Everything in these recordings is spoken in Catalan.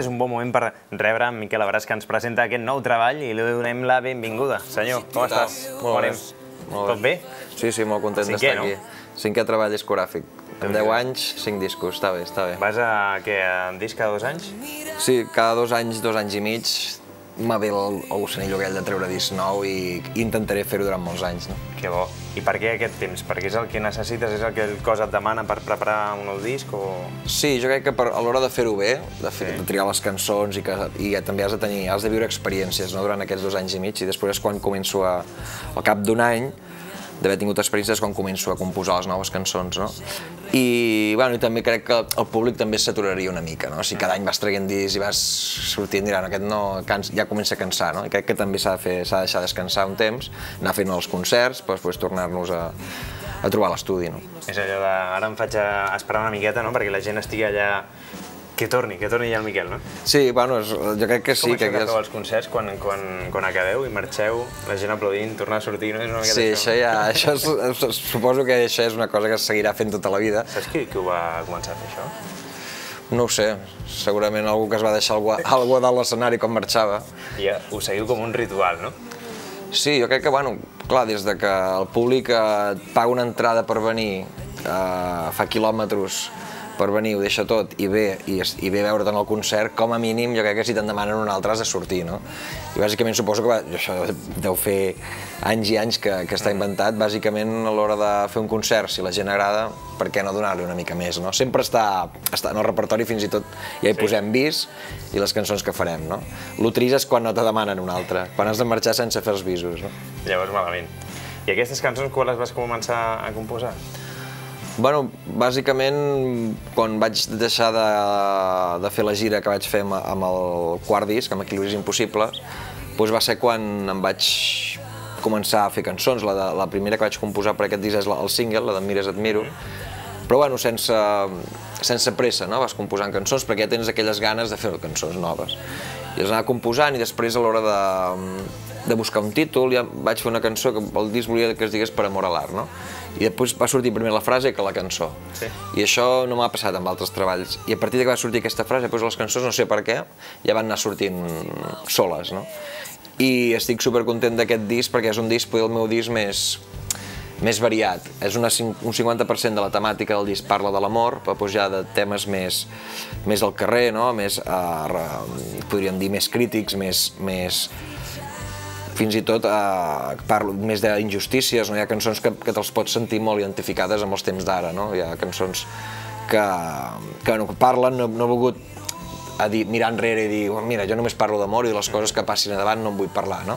és un bon moment per rebre en Miquel Abràs, que ens presenta aquest nou treball i li donem la benvinguda. Senyor, com estàs? Molt bé. Tot bé? Sí, molt content d'estar aquí. Cinquè treball discogràfic. En 10 anys, 5 discos, està bé, està bé. Vas a disc cada 2 anys? Sí, cada 2 anys, 2 anys i mig, m'ha ve el gusanillo aquell de treure disc nou i intentaré fer-ho durant molts anys. Que bo. I per què aquest temps? Perquè és el que necessites, és el que el cos et demana per preparar un nou disc? Sí, jo crec que a l'hora de fer-ho bé, de triar les cançons i també has de viure experiències durant aquests 2 anys i mig, i després és quan començo, al cap d'un any, d'haver tingut experiències, quan començo a composar les noves cançons. I també crec que el públic també s'aturaria una mica. Si cada any vas traient discs i vas sortint, diran, aquest ja comença a cansar. I crec que també s'ha de deixar descansar un temps, anar fent els concerts, per després tornar-nos a trobar a l'estudi. És allò de, ara em faig esperar una miqueta, perquè la gent estigui allà. Que torni ja el Miquel, no? Sí, jo crec que sí. Com això que feu els concerts, quan acabeu i marxeu, la gent aplaudint, tornar a sortir, no? Sí, suposo que això és una cosa que es seguirà fent tota la vida. Saps qui ho va començar a fer, això? No ho sé, segurament algú que es va deixar alguna dalt l'escenari quan marxava. I ho seguiu com un ritual, no? Sí, jo crec que, clar, des que el públic et paga una entrada per venir, fa quilòmetres per venir, ho deixa tot i ve veure't en el concert, com a mínim jo crec que si te'n demanen un altre has de sortir, no? I bàsicament suposo que això deu fer anys i anys que està inventat, bàsicament a l'hora de fer un concert, si la gent agrada, per què no donar-li una mica més, no? Sempre està en el repertori, fins i tot ja hi posem bis i les cançons que farem, no? Lo trist és quan no te demanen un altre, quan has de marxar sense fer els bisos, no? Llavors malament. I aquestes cançons quan les vas començar a composar? Bàsicament, quan vaig deixar de fer la gira que vaig fer amb el quart disc, amb Equilibris Impossibles, va ser quan em vaig començar a fer cançons. La primera que vaig composar per aquest disc és el single, la d'Em mires et miro, però sense pressa, vas composant cançons perquè ja tens aquelles ganes de fer cançons noves. I les anava composant i després a l'hora de buscar un títol ja vaig fer una cançó que el disc volia que es digués Per amor a l'art, no? I després va sortir primer la frase que la cançó. I això no m'ha passat amb altres treballs. I a partir que va sortir aquesta frase, les cançons, no sé per què, ja van anar sortint soles, no? I estic supercontent d'aquest disc perquè és un disc, el meu disc més variat. És un 50% de la temàtica del disc parla de l'amor, però ja de temes més del carrer, més, podríem dir, més crítics, fins i tot parlo més d'injustícies, hi ha cançons que te'ls pots sentir molt identificades amb els temps d'ara, hi ha cançons que parlen, no he volgut mirar enrere i dir, mira, jo només parlo d'amor i de les coses que passin a davant no en vull parlar, no?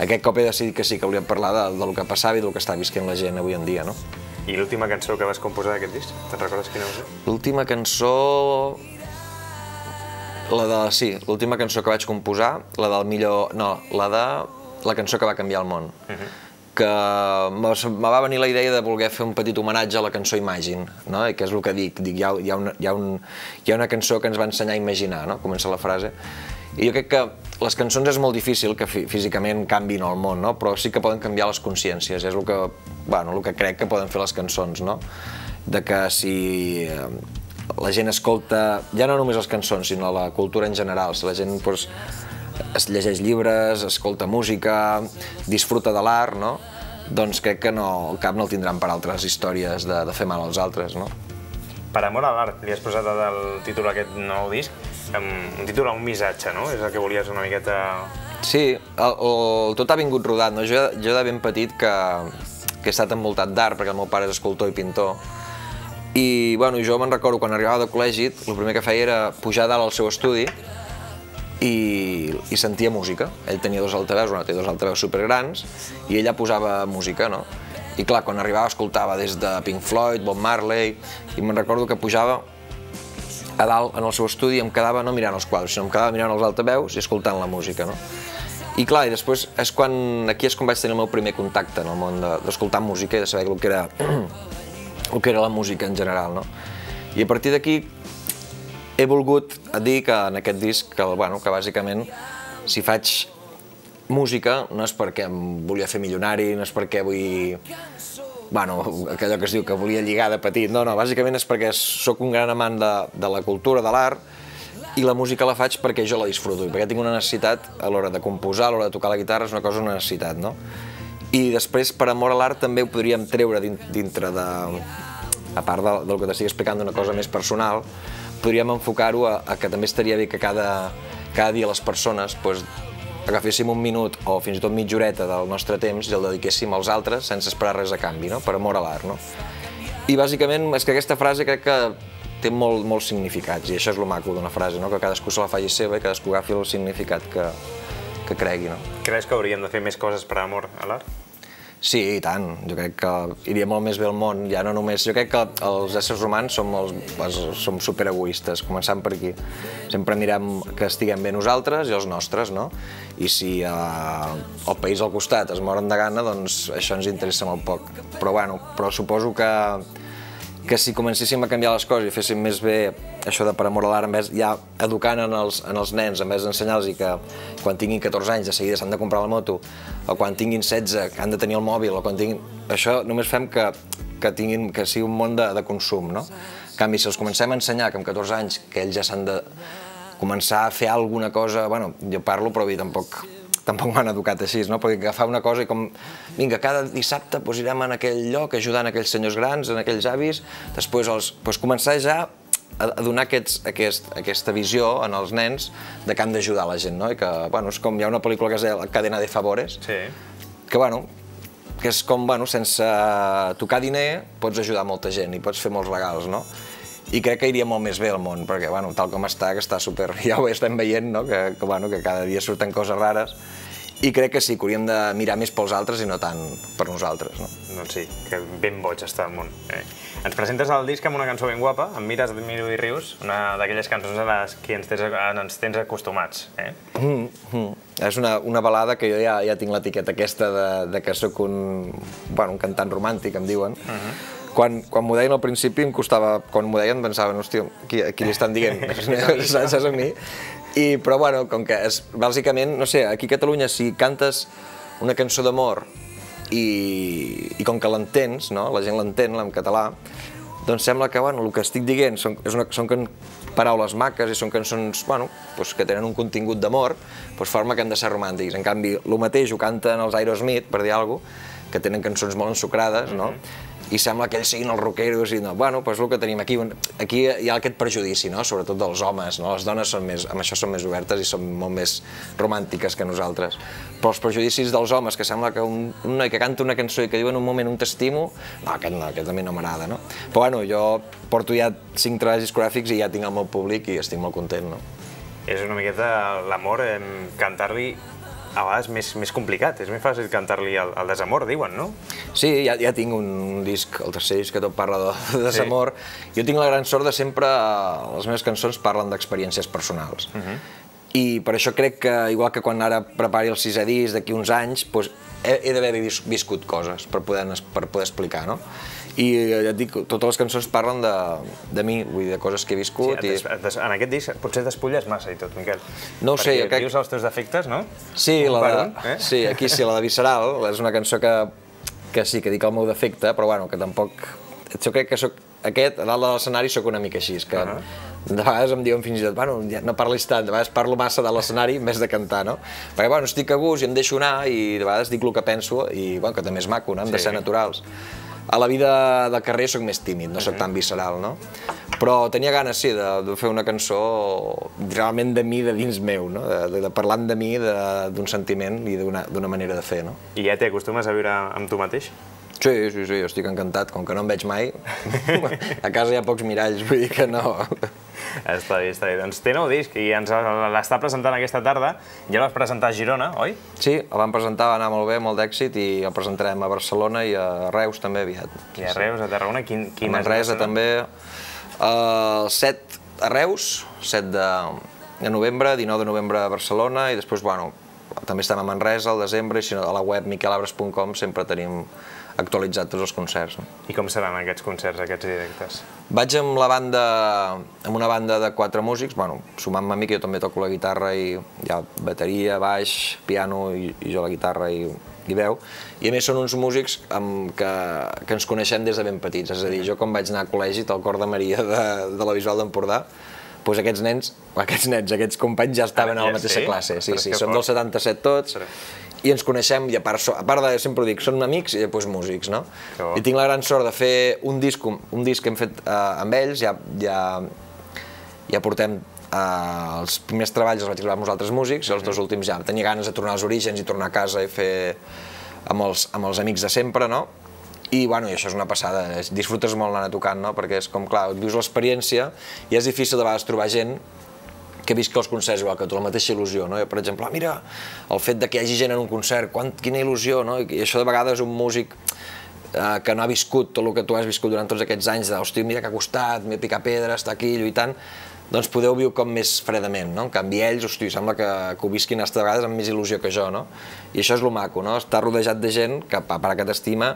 Aquest cop he decidit que sí, que volíem parlar del que passava i del que està visquent la gent avui en dia, no? I l'última cançó que vas composar d'aquest disc, te'n recordes quina va ser? L'última cançó... Sí, l'última cançó que vaig composar, la del millor... No, la cançó que va canviar el món, que me va venir la idea de voler fer un petit homenatge a la cançó Imagine, que és el que dic, hi ha una cançó que ens va ensenyar a imaginar, comença la frase, i jo crec que les cançons és molt difícil que físicament canviïn el món, però sí que poden canviar les consciències, és el que crec que poden fer les cançons, de que si la gent escolta, ja no només les cançons, sinó la cultura en general, si la gent es llegeix llibres, escolta música, disfruta de l'art, doncs crec que el cap no el tindran per altres històries de fer mal als altres. Per amor a l'art, li has posat el títol a aquest nou disc, un títol a un missatge, no? És el que volies una miqueta... Sí, tot ha vingut rodat. Jo de ben petit que he estat envoltat d'art, perquè el meu pare és escultor i pintor, i jo me'n recordo quan arribava de col·legi, el primer que feia era pujar dalt al seu estudi i sentia música. Ell tenia dos altaveus supergrans i ella posava música, I clar, quan arribava escoltava des de Pink Floyd, Bob Marley, i me'n recordo que pujava a dalt en el seu estudi i em quedava no mirant els quadres, sinó em quedava mirant els altaveus i escoltant la música, I clar, i després aquí és quan vaig tenir el meu primer contacte en el món d'escoltar música i de saber el que era la música en general, I a partir d'aquí he volgut dir que en aquest disc, que bàsicament, si faig música, no és perquè em volia fer milionari, no és perquè vull... Allò que es diu que volia lligar de petit, no, bàsicament és perquè sóc un gran amant de la cultura, de l'art, i la música la faig perquè jo la disfruto, i perquè tinc una necessitat a l'hora de composar, a l'hora de tocar la guitarra, és una cosa, una necessitat, no? I després, per amor a l'art, també ho podríem treure dintre de... A part del que t'estic explicant d'una cosa més personal, podríem enfocar-ho a que també estaria bé que cada dia les persones agaféssim un minut o fins i tot mitja horeta del nostre temps i el dediquéssim als altres sense esperar res a canvi, per amor a l'art. I bàsicament és que aquesta frase crec que té molts significats, i això és el maco d'una frase, que cadascú se la faci seva i cadascú agafi el significat que cregui. Creus que hauríem de fer més coses per amor a l'art? Sí, i tant. Jo crec que iria molt més bé el món, ja no només... Jo crec que els éssers humans som superegoistes, començant per aquí. Sempre mirem que estiguem bé nosaltres i els nostres, no? I si el país al costat es moren de gana, doncs això ens interessa molt poc. Però suposo que si comencéssim a canviar les coses i féssim més bé això de per amor a l'art, ja educant en els nens, en vez d'ensenyar-los que quan tinguin 14 anys de seguida s'han de comprar la moto, o quan tinguin 16 que han de tenir el mòbil, o quan tinguin... Això només fem que sigui un món de consum, no? En canvi, si els comencem a ensenyar que amb 14 anys que ells ja s'han de començar a fer alguna cosa... Bueno, jo parlo, però tampoc m'han educat així, no? Perquè agafar una cosa i com... Vinga, cada dissabte irem en aquell lloc ajudant aquells senyors grans, en aquells avis, després començar ja a donar aquesta visió en els nens de que han d'ajudar la gent, no? I que, és com hi ha una pel·lícula que es deia Cadena de Favores, que és com, sense tocar diner pots ajudar molta gent i pots fer molts regals, no? I crec que iria molt més bé el món, perquè, tal com està, que està super... Ja ho estem veient, no? Que cada dia surten coses rares. I crec que sí, que hauríem de mirar més pels altres i no tant per nosaltres, no? Doncs sí, que ben boig està el món. Ens presentes el disc amb una cançó ben guapa, Em mires, et miro i rius, una d'aquelles cançons a les que ens tens acostumats. És una balada que jo ja tinc l'etiqueta aquesta de que sóc un cantant romàntic, em diuen. Quan m'ho deien al principi em costava, quan m'ho deien pensaven, hòstia, qui li estan dient? Saps a mi? Però com que és, bàsicament, no sé, aquí a Catalunya si cantes una cançó d'amor i com que l'entens, la gent l'entén en català, doncs sembla que el que estic dient són paraules maques i són cançons que tenen un contingut d'amor, forma que han de ser romàntics. En canvi, el mateix ho canten els Aerosmith, per dir alguna cosa, que tenen cançons molt ensucrades, i sembla que ells siguin els rockeros i no, és el que tenim aquí. Aquí hi ha aquest prejudici, sobretot dels homes, les dones amb això són més obertes i són molt més romàntiques que nosaltres. Però els prejudicis dels homes, que sembla que un noi que canta una cançó i que diu en un moment un t'estimo, no, aquest a mi no m'agrada, no? Però jo porto ja 5 treballs discogràfics i ja tinc el meu públic i estic molt content, no? És una miqueta l'amor, cantar-li a vegades més complicat, és més fàcil cantar-li el desamor, diuen, no? Sí, ja tinc un disc, el tercer disc que tot parla de desamor. Jo tinc la gran sort de sempre, les meves cançons parlen d'experiències personals. I per això crec que, igual que quan ara prepari el 6è disc d'aquí uns anys, he d'haver viscut coses per poder explicar, no? I ja et dic, totes les cançons parlen de mi, vull dir, de coses que he viscut. En aquest disc potser despulles massa i tot, Miquel. No ho sé, jo crec... Perquè dius els teus defectes, no? Sí, aquí sí, la de Visceral, és una cançó que sí, que dic el meu defecte, però que tampoc... Jo crec que soc aquest, a dalt de l'escenari soc una mica així, que de vegades em diuen fins i tot, no parlis tant, de vegades parlo massa de l'escenari en vez de cantar, no? Perquè, estic a gust i em deixo anar i de vegades dic el que penso i, que també és maco, no? Hem de ser naturals. A la vida de carrer soc més tímid, no soc tan visceral, no? Però tenia ganes, sí, de fer una cançó realment de mi, de dins meu, no? De parlant de mi, d'un sentiment i d'una manera de fer, no? I ja t'acostumes a viure amb tu mateix? Sí, jo estic encantat, com que no em veig mai. A casa hi ha pocs miralls, vull dir que no. Està bé. Doncs té nou disc i ens l'està presentant aquesta tarda. Ja el vas presentar a Girona, oi? Sí, el vam presentar, va anar molt bé, molt d'èxit, i el presentarem a Barcelona i a Reus també aviat. I a Reus, a Tarragona, quin és? A Manresa també. El 7 a Reus, 7 de novembre, 19 de novembre a Barcelona, i després, també estem a Manresa al desembre, i a la web miquelabres.com sempre tenim actualitzat tots els concerts. I com seran aquests concerts, aquests directes? Vaig amb una banda de 4 músics, sumant-me a mi, que jo també toco la guitarra i hi ha bateria, baix, piano i jo la guitarra i veu. I a més són uns músics que ens coneixem des de ben petits, és a dir, jo quan vaig anar a col·legi al Cor de Maria de la Bisbal d'Empordà, doncs aquests companys ja estaven a la mateixa classe. Sí, som del 77 tots, i ens coneixem, i a part de, sempre ho dic, són amics i després músics, no? I tinc la gran sort de fer un disc que hem fet amb ells, ja portem els primers treballs els vaig gravar amb uns altres músics, i els dos últims ja tenia ganes de tornar als orígens i tornar a casa i fer amb els amics de sempre, no? I això és una passada, disfrutes molt anar tocant, no? Perquè és com, clar, vius l'experiència i és difícil de vegades trobar gent que visqui els concerts igual que tu, la mateixa il·lusió, no? Per exemple, mira, el fet que hi hagi gent en un concert, quina il·lusió, no? I això de vegades un músic que no ha viscut tot el que tu has viscut durant tots aquests anys, hòstia, mira que ha costat, m'he picat pedra, estar aquí lluitant, doncs podeu viure com més fredament, no? En canvi ells, hosti, sembla que ho visquin de vegades amb més il·lusió que jo, no? I això és lo maco, no? Estar rodejat de gent que, a part que t'estima,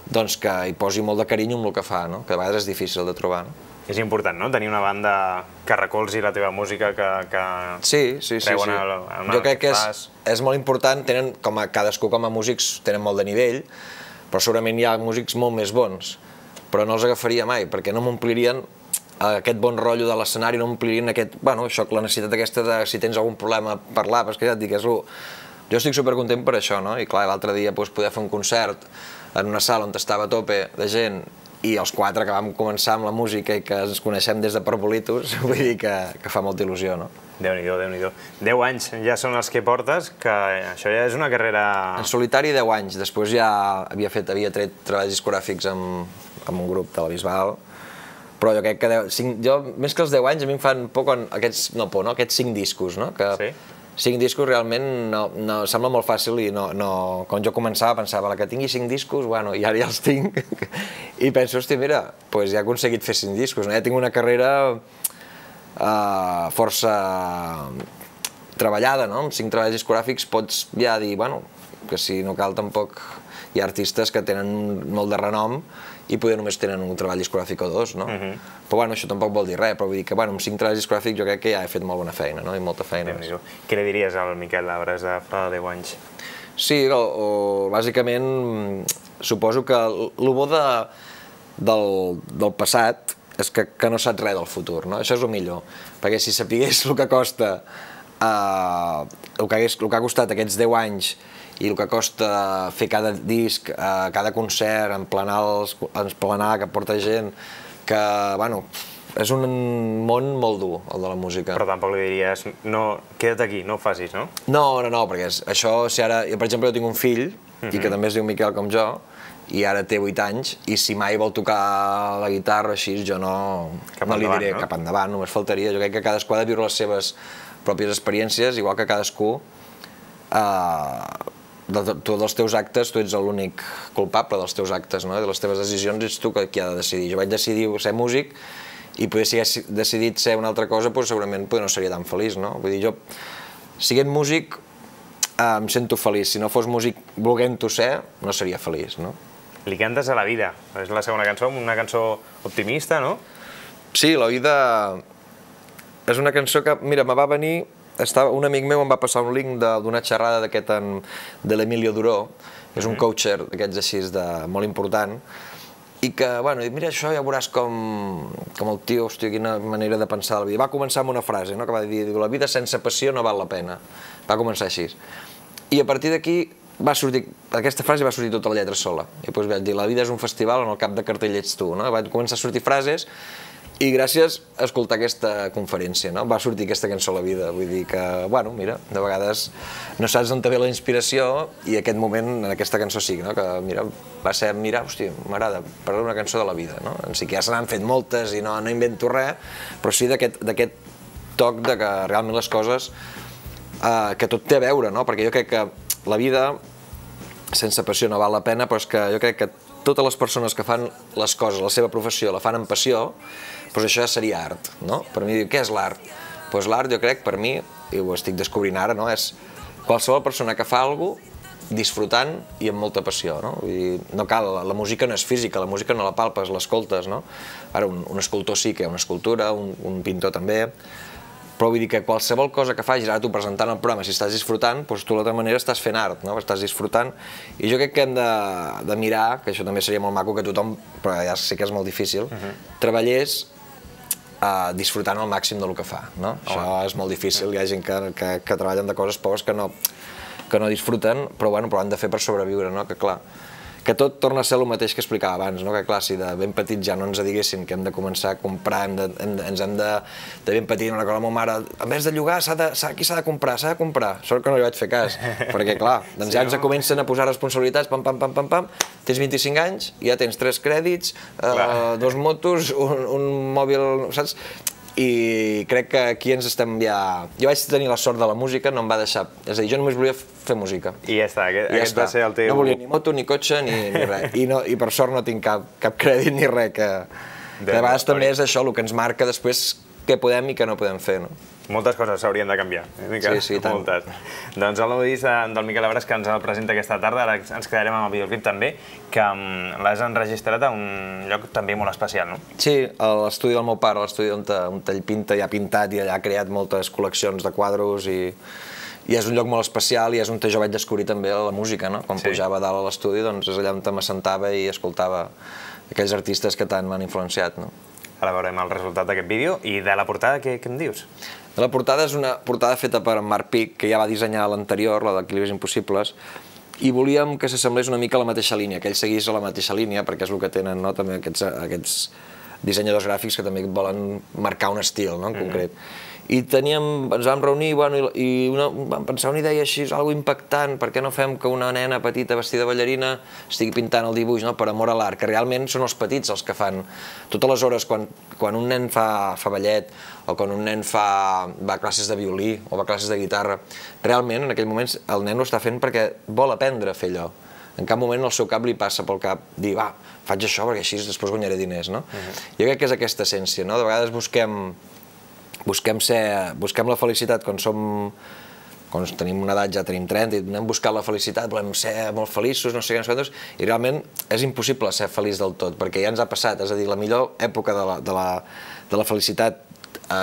doncs que hi posi molt de carinyo amb el que fa, no? Que a vegades és difícil de trobar, no? És important, no?, tenir una banda que recolzi la teva música, que creuen en el jo crec que fas. És molt important, cadascú com a músics tenen molt de nivell, però segurament hi ha músics molt més bons, però no els agafaria mai, perquè no m'omplirien aquest bon rotllo de l'escenari, no m'omplirien la necessitat aquesta de si tens algun problema parlar, perquè ja et dic, jo estic supercontent per això, no? I clar, l'altre dia poder fer un concert en una sala on estava a tope de gent i els quatre que vam començar amb la música i que ens coneixem des de Parvolitos, vull dir que fa molta il·lusió, no? Déu-n'hi-do, Déu-n'hi-do. 10 anys ja són els que portes, que això ja és una carrera... En solitari 10 anys, després ja havia tret treballs discogràfics amb un grup de la Bisbal, però jo crec que més que els 10 anys a mi em fan por aquests 5 discos, no? Que 5 discos realment sembla molt fàcil i quan jo començava pensava que tingui 5 discos, i ara ja els tinc i penso, hòstia, mira, ja he aconseguit fer 5 discos, ja tinc una carrera força treballada, no? Amb 5 treballs discogràfics pots ja dir, que si no cal tampoc hi ha artistes que tenen molt de renom i potser només tenen un treball discogràfic o dos, no? Però això tampoc vol dir res, però vull dir que amb 5 treballs discogràfics jo crec que ja he fet molt bona feina, no? I molta feina. Què li diries al Miquel Labres de fa 10 anys? Sí, bàsicament suposo que el bo del passat és que no saps res del futur, no? Això és el millor, perquè si sapigués el que costa, el que ha costat aquests 10 anys i el que costa fer cada disc, cada concert, emplenar, que porta gent, que, és un món molt dur, el de la música. Però tampoc li diries, no, queda't aquí, no ho facis, no? No, perquè això, si ara, per exemple, jo tinc un fill, i que també es diu Miquel com jo, i ara té 8 anys, i si mai vol tocar la guitarra o així, jo no li diré cap endavant, només faltaria. Jo crec que cadascú ha de viure les seves pròpies experiències, igual que cadascú dels teus actes, tu ets l'únic culpable dels teus actes, no? De les teves decisions ets tu qui ha de decidir. Jo vaig decidir ser músic i potser si hagués decidit ser una altra cosa, segurament no seria tan feliç, no? Vull dir, jo, sent músic, em sento feliç. Si no fos músic volent-ho ser, no seria feliç, no? Li cantes a la vida. És la segona cançó, una cançó optimista, no? Sí, La vida és una cançó que, mira, me va venir... Un amic meu em va passar un link d'una xerrada d'aquest de l'Emilio Duró, és un coacher d'aquests així molt important, i que, mira, això ja veuràs com el tio, hòstia, quina manera de pensar la vida. Va començar amb una frase, que va dir, la vida sense passió no val la pena. Va començar així. I a partir d'aquí aquesta frase va sortir tota la lletra sola. I doncs vaig dir, la vida és un festival on al cap de cartell ets tu. Van començar a sortir frases i gràcies a escoltar aquesta conferència va sortir aquesta cançó a la vida. Vull dir que, mira, de vegades no saps d'on te ve la inspiració i aquest moment, en aquesta cançó sí, que mira, va ser, mira, hòstia, m'agrada parlar una cançó de la vida. Sí que ja se n'han fet moltes i no invento res, però sí d'aquest toc de que realment les coses, que tot té a veure, perquè jo crec que la vida sense passió no val la pena, però és que jo crec que totes les persones que fan les coses, la seva professió, la fan amb passió, doncs això ja seria art, no? Per mi, què és l'art? Doncs l'art, jo crec, per mi, i ho estic descobrint ara, és qualsevol persona que fa alguna cosa disfrutant i amb molta passió, no? Vull dir, no cal, la música no és física, la música no la palpes, l'escoltes, no? Ara, un escultor sí que hi ha una escultura, un pintor també, però vull dir que qualsevol cosa que facis, ara tu presentant el programa, si estàs disfrutant, doncs tu d'altra manera estàs fent art, no? Estàs disfrutant, i jo crec que hem de mirar, que això també seria molt maco, que tothom, però ja sé que és molt difícil, treballés disfrutant al màxim del que fa, no? Això és molt difícil, hi ha gent que treballen de coses pobres que no disfruten, però bueno, però han de fer per sobreviure, no? Que clar, que tot torna a ser el mateix que explicava abans, no? Que clar, si de ben petits ja no ens diguessin que hem de començar a comprar, ens hem de ben petit, una cosa, la meva mare, en vez de llogar, aquí s'ha de comprar, sort que no li vaig fer cas, perquè clar, doncs ja ens comencen a posar responsabilitats, pam, pam, pam, pam, pam, tens 25 anys, ja tens 3 crèdits, 2 motos, un mòbil, saps? I crec que aquí ens estem ja... Jo vaig tenir la sort de la música, no em va deixar... És a dir, jo només volia fer música. I ja està, aquest va ser el teu... No volia ni moto, ni cotxe, ni res. I per sort no tinc cap crèdit ni res, que de vegades també és això el que ens marca després què podem i què no podem fer, no? Moltes coses s'haurien de canviar, sí, tant. Moltes. Doncs el nou disc del Miquel Abres que ens el presenta aquesta tarda, ara ens quedarem amb el videoclip també, que l'has enregistrat a un lloc també molt especial, no? Sí, a l'estudi del meu pare, l'estudi on ell pinta i ha pintat i allà ha creat moltes col·leccions de quadros i és un lloc molt especial i és on jo vaig descobrir també la música, no? Quan pujava dalt a l'estudi, doncs és allà on m'assentava i escoltava aquells artistes que tant m'han influenciat, no? Ara veurem el resultat d'aquest vídeo. I de la portada, què em dius? La portada és una portada feta per en Marc Pic, que ja va dissenyar l'anterior, la d'Equilibris Impossibles, i volíem que s'assemblés una mica a la mateixa línia, que ell seguís a la mateixa línia, perquè és el que tenen també aquests dissenyadors gràfics que també volen marcar un estil, en concret. I ens vam reunir i vam pensar una idea així, algo impactant, per què no fem que una nena petita vestida de ballarina estigui pintant el dibuix, per amor a l'art, que realment són els petits els que fan. Totes les hores, quan un nen fa ballet, o quan un nen va a classes de violí, o va a classes de guitarra, realment en aquell moment el nen ho està fent perquè vol aprendre a fer allò. En cap moment al seu cap li passa pel cap dir, va, faig això perquè així després guanyaré diners, no? Jo crec que és aquesta essència, no? De vegades busquem la felicitat quan tenim una edat, ja tenim 30, i anem buscant la felicitat, volem ser molt feliços, no sé què, i realment és impossible ser feliç del tot, perquè ja ens ha passat, és a dir, la millor època de la felicitat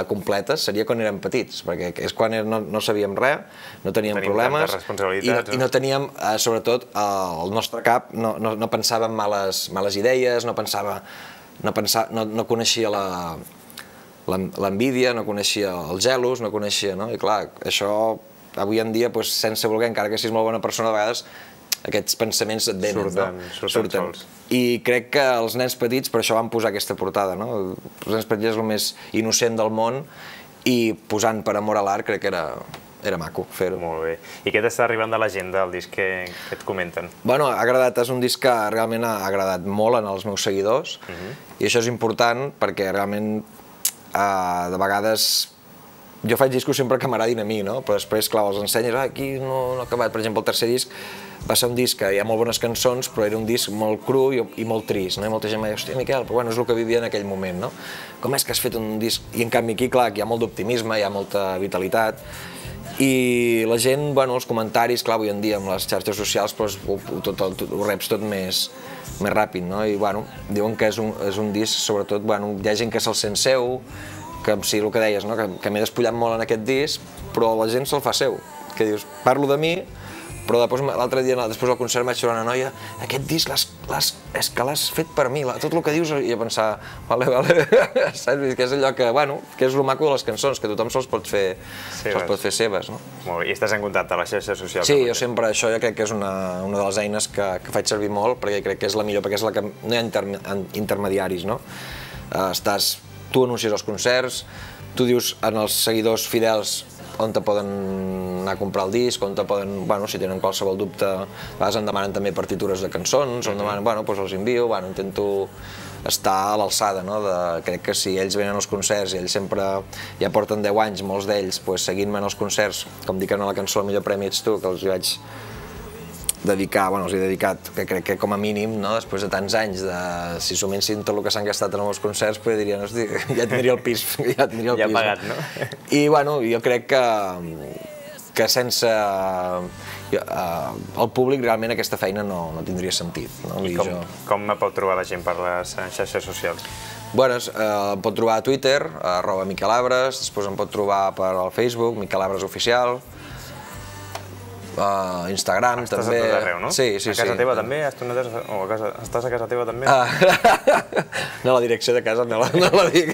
completa seria quan érem petits, perquè és quan no sabíem res, no teníem problemes i no teníem, sobretot, el nostre cap no pensava en males idees, no coneixia l'envídia, no coneixia els gelos, no coneixia, no? I clar, això avui en dia, sense voler, encara que siguis molt bona persona, a vegades aquests pensaments et venen, surten. I crec que els nens petits, per això van posar aquesta portada, no? Els nens petits és el més innocent del món i posant per amor a l'art crec que era maco fer-ho. Molt bé. I què t'està arribant de la gent del disc que et comenten? Bueno, ha agradat, és un disc que realment ha agradat molt als meus seguidors i això és important perquè realment de vegades jo faig discos sempre que m'agradin a mi, no? Però després, clar, els ensenyes, aquí no ha acabat. Per exemple, el tercer disc va ser un disc que hi ha molt bones cançons, però era un disc molt cru i molt trist, no? I molta gent m'ha dit, hòstia, Miquel, però bueno, és el que vivia en aquell moment, no? Com és que has fet un disc? I en canvi aquí, clar, hi ha molt d'optimisme, hi ha molta vitalitat, i la gent, bueno, els comentaris, clar, avui en dia amb les xarxes socials ho reps tot més ràpid, no? I, bueno, diuen que és un disc, sobretot, bueno, hi ha gent que se'l sent seu, que sí, el que deies, no? Que m'he despullat molt en aquest disc, però la gent se'l fa seu, que dius, parlo de mi, però l'altre dia, després del concert, vaig trobar una noia, aquest disc és que l'has fet per mi, tot el que dius, i a pensar, vale, saps? Que és allò que, bueno, que és el maco de les cançons, que tothom se'ls pot fer seves, no? Molt bé, i estàs en contacte a les xarxes socials? Sí, jo sempre, això jo crec que és una de les eines que faig servir molt, perquè crec que és la millor, perquè és la que no hi ha intermediaris, no? Tu anuncies els concerts, tu dius als seguidors fidels on te poden anar a comprar el disc, on te poden, bueno, si tenen qualsevol dubte, a vegades em demanen també partitures de cançons, em demanen, bueno, doncs els envio, bueno, intento estar a l'alçada, no? Crec que si ells venen als concerts i ells sempre ja porten 10 anys, molts d'ells, seguint-me en els concerts, com dic en la cançó El millor premi ets tu, que els hi vaig dedicar, bueno, els he dedicat, que crec que com a mínim, no, després de tants anys, si sumessin tot el que s'han gastat en els concerts, dirien, hosti, ja tindria el pis. Ja pagat, no? I, bueno, jo crec que sense el públic realment aquesta feina no tindria sentit. I com me pot trobar la gent per les xarxes socials? Bueno, em pot trobar a Twitter, @MiquelAbres, després em pot trobar per al Facebook, Miquel Abres Oficial, Instagram també. Estàs a tot arreu, no? Sí. A casa teva també? Estàs a casa teva també? No, la direcció de casa no la dic.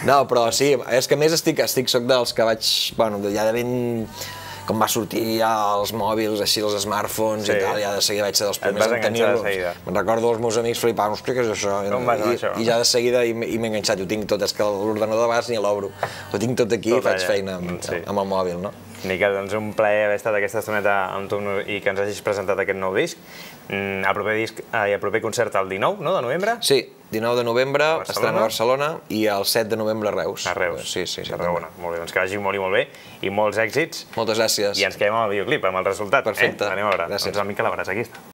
No, però sí, és que a més soc dels que vaig, bueno, ja de ben... Com va sortir ja els mòbils, així, els smartphones i tal, ja de seguida vaig ser dels primers en tenir-los. Me'n recordo els meus amics flipant, hòstia, què és això? Com vas amb això? I ja de seguida m'he enganxat, ho tinc tot, és que l'ordenador de vegades ni l'obro. Ho tinc tot aquí i faig feina amb el mòbil, no? Miquel, doncs un plaer haver estat aquesta estoneta amb tu i que ens hagis presentat aquest nou disc. El proper concert el 19, no?, de novembre? Sí, 19 de novembre, estrena a Barcelona i el 7 de novembre a Reus. A Reus, sí. Tarragona. Molt bé, doncs que vagi molt i molt bé i molts èxits. Moltes gràcies. I ens quedem amb el videoclip, amb el resultat. Perfecte. Anem a veure. Gràcies. Doncs el Miquel Abràs, aquí està.